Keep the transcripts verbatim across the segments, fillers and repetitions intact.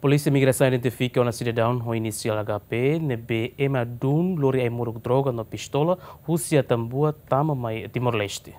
Polísia Migrasaun identifika ona sidadaun ho inisiál H P ne'ebé ema dún lori ai-moruk droga no pistola husi Atambua tama mai Timor-Leste.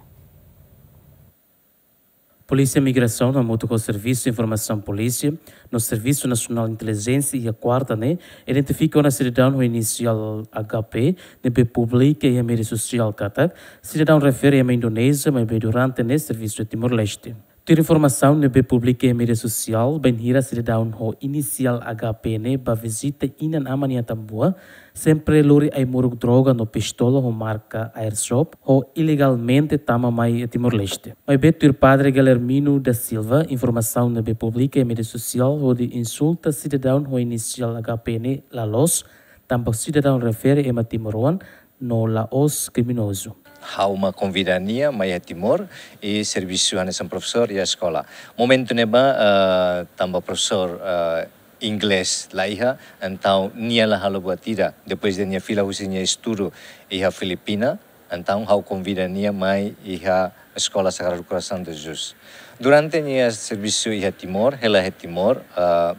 Polísia Migrasaun hamutuk ho Servisu Informasaun Polísia no Servisu Nasionál Intelijénsia iha kuarta ne'e identifika ona sidadaun ho inisiál H P ne'ebé publika iha média sosiál katak sidadaun refere ema Indonézia maibé durante ne'e servisu iha Timor-Leste. Tuir informasaun ne'ebé publika iha média sosiál, bainhira sidadaun ho inisiál H P ne'e bá vizita inan-aman iha Atambua, sempre lori ai-moruk droga no pistola ho marka Airsoft, ho ilegalmente tama mai Timor-Leste. Maibé tuir Padre Guilhermino da Silva, informasaun ne'ebé publika iha média sosiál hodi insulta sidadaun ho inisiál H P ne'e la loos, tanba sidadaun refere ema timoroan no la'ós kriminozu. Ha'u mak konvida nia mai iha Timor, i servisu hanesan profesór iha eskola. Momentu ne'ebá, eh, tanba profesór, eh, inglés la iha, entaun nia la halo buat ida. Depois de nia fila husi nia estudu iha Filipina, entaun ha'u konvida nia mai iha Eskola Sagrado Coração de Jesus. Durante nia servisu iha Timor, hela iha Timor, eh,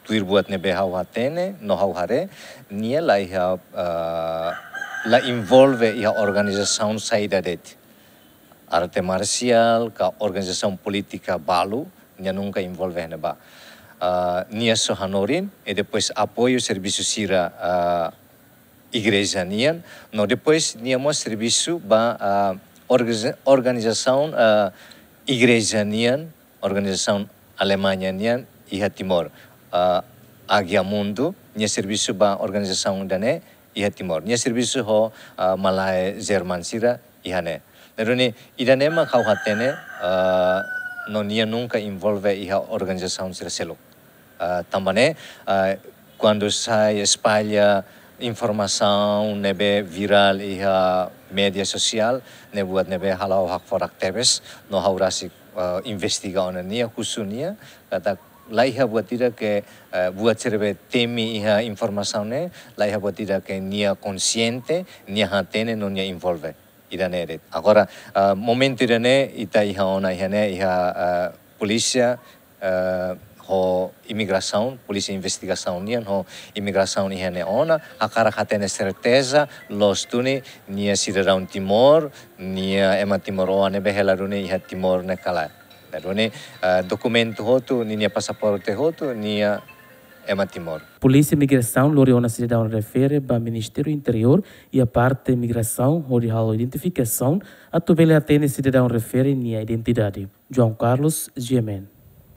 tuir buat ne'ebé ha'u hatene no ha'u haree, nia la iha, eh, la envolve iha organizasaun saida de'it. Arte marsiál ka organizasaun polítika balu, nia nunka envolve iha ne'ebá. Eh, nia só hanorin, i depois apoiu servisu sira, eh, igreja nian, no depois nia mós servisu ba, eh, organiza-, organizasaun, eh, igreja nian, organizasaun Alemaña nian iha Timor. Eh, Agia Mundi, nia servisu ba organizasaun ida-ne'e iha Timor. Nia servisu ho, eh, malae Jerman sira iha ne'e. Ne'e duni, ida-ne'e mak ha'u hatene, eh, no nia nunka envolve iha organizasaun sira seluk. Eh, tanba ne'e, eh, kuandu sai espalla informasaun ne'ebé virál iha média sosiál, ne'e buat ne'ebé halo ha'u hakfodak tebes, no ha'u rasik, eh, investiga ona nia, husu nia, katak la iha buat ida ke, eh, buat sira ne'ebé temi iha informasaun ne'e, la iha buat ida ke nia konxiente, nia hatene no nia envolve. Ida-ne'e de'it. Agora, eh, momentu ida-ne'e, ita iha ona iha ne'e, iha, eh, polísia, eh, ho imigrasaun, polísia investigasaun nian ho imigrasaun iha ne'e ona, hakarak hatene serteza, loos duni, nia sidadaun Timor, nia ema timoroan ne'ebé hela duni iha Timor ne'e ka lae. Ne'e duni, eh, dokumentu hotu, ninia pasaporte hotu, nia ema Timor. Polísia Migrasaun lori ona sidadaun refere ba Ministériu Interiór iha parte migrasaun hodi halo identifikasaun atu bele hatene sidadaun refere nia identidade. João Carlos, G M N.